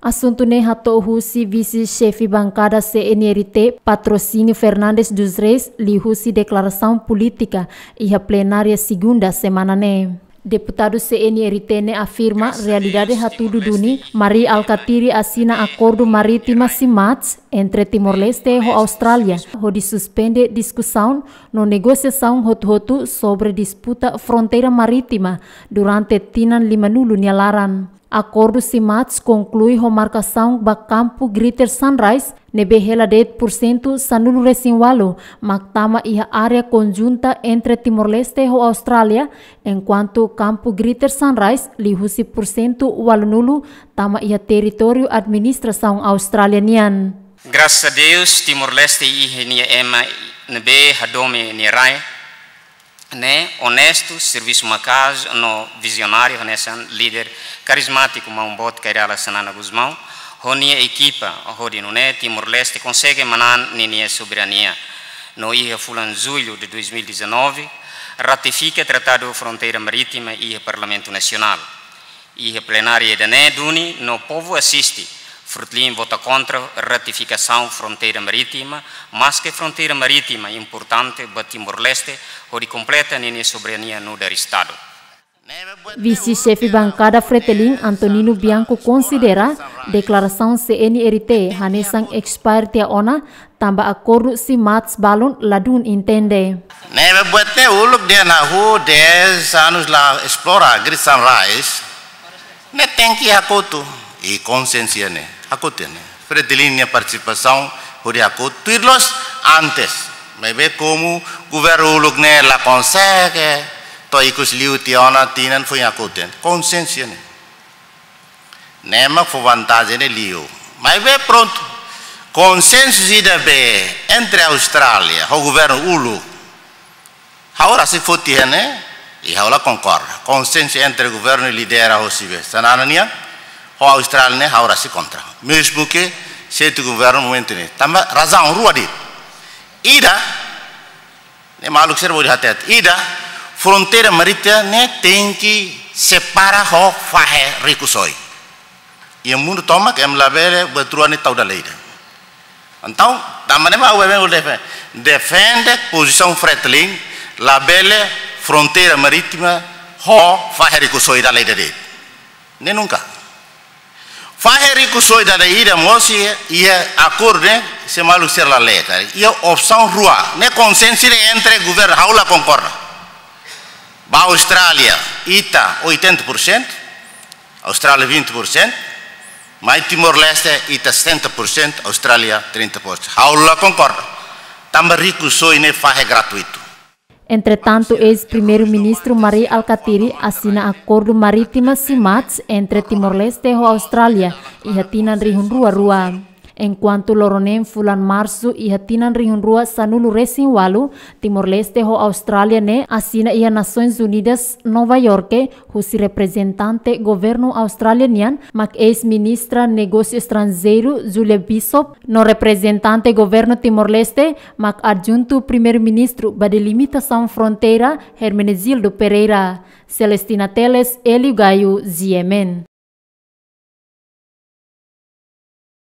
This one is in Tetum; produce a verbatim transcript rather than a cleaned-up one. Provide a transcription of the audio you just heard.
Asuntu ne'e hato'o husi vise-xefe bankada C N R T, Patrocínio Fernandes dos Reis, liuhusi deklarasaun polítika iha plenária segunda semana ne'e. Deputadu C N R T ne'e afirma realidade hatudu duni Mari Alkatiri asina akordu marítima CMATS entre Timor-Leste ho Austrália, hodi suspende diskusaun no negosiasaun hotu-hotu sobre disputa fronteira marítima durante tinan limanulu nia laran. Akordu CMATS konklui ho markasaun ba kampu Greater Sunrise, ne'ebé hela de'it pursentu sanulu-resin-ualu mak tama iha área konjunta entre Timor-Leste ho Austrália, enkuantu kampu Greater Sunrise liuhusi pursentu ualunulu tama iha territóriu administrasaun Austrália nian. Graças a Deus, Timor-Leste iha nia ema ne'ebé hadomi nia rai ne'e onestu, servisu maka'as no vizionáriu hanesan líder karizmátiku Maun Boot Kay Rala Xanana Gusmão ho nia ekipa, hodi nune'e Timor-Leste konsege manán ninia soberania. No iha fulan Jullu de dois mil e dezanove, ratifika Tratadu Fronteira Marítima iha Parlamentu Nasionál. Iha plenária ida-ne'e duni no povu asiste, Fretilin vota kontra ratifikasaun fronteira marítima, maske fronteira marítima importante ba Timor-Leste, hodi kompleta ninia soberania nu'udar Estadu. Vise-xefe bankada Fretilin, Antonino Bianco, konsidera deklarasaun C N R T hanesan expire tiha ona, tanba akordu CMATS balun ladún intende. Ne'ebé buat ne'e uluk dehan hahú dez anos la esplora Great Sunrise, ne'e tenke hakotu, i konsensu ne'e hakotu ne'e. Fretilin nia partisipasaun hodi hakotu tuir loos antes. Maibé komu governu uluk ne'e la konsege, to'o ikus liu tiha ona tinan foin hakotu ne'e. Konsensu ne'e. Ne'e mak fó vantajen ne'e liu. Maibé prontu. Konsensu ida be entre Austrália ho governu uluk. Ha'u rasik foti hene, i ha'u la konkorda. Konsensu entre governu lidera hosi be Xanana nian, ho Austrália ne'e ha'u rasik kontra. Mezmu ke sete governu momentu ne'e. Tanba razaun rua de'it. Ida, ne'e maluk sira bele hatete. Ida, fronteira marítima ne'e tenke separa ho fahe rikusoin. Iha mundu tomak ema labele buat rua ne'e tau dala ida. Entaun, tanba ne'e mak U B B uluk defe-, defende pozisaun Fretilin, labele fronteira marítima ho fahe rikusoin dala ida de'it. Ne'e nunka. Fahe rikusoin dala ida mós iha, iha akordu ne'e, se maluk sira la lee, ka. Iha opsaun rua, ne'e konsensu entre governu, ha'u la konkorda. Ba Austrália, ita oitenta por cento, Austrália vinte por cento, mai Timor-Leste, ita setenta por cento, Austrália trinta por cento. Ha'u la konkorda. Tanba rikusoin ne'e fahe gratuitu. Entretantu, eis-Primeiru-Ministru Mari Alkatiri asina akordu marítima CMATS entre Timor-Leste ho Austrália iha tinan rihun rua rua. Enkuantu loron neen fulan Marsu iha tinan rihun rua sanulu-resin-ualu, Timor-Leste ho Austrália ne'e asina iha Nasoins Unidas, Nova Iorke, husi reprezentante governu Austrália nian, mak eis-ministra Negósiu Estranjeiru, Julia Bishop, no reprezentante governu Timor-Leste, mak adjuntu Primeiru-Ministru ba delimitasaun fronteira, Hermenegildo Pereira. Celestina Teles, Hélio Gaio, G M N.